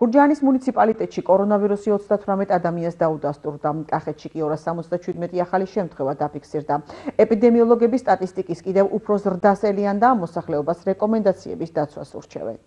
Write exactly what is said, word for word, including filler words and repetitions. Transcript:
გურჯაანის მუნიციპალიტეტში კორონავირუსი ოცდათვრამეტ ადამიანს დაუდასტურდა. კახეთში კი ორას სამოცდაშვიდმეტი ახალი შემთხვევა დაფიქსირდა. ეპიდემიოლოგების სტატისტიკის კიდევ უფრო ზრდას ელიან და ამ მოსახლეობას რეკომენდაციების დაცვას ურჩევენ.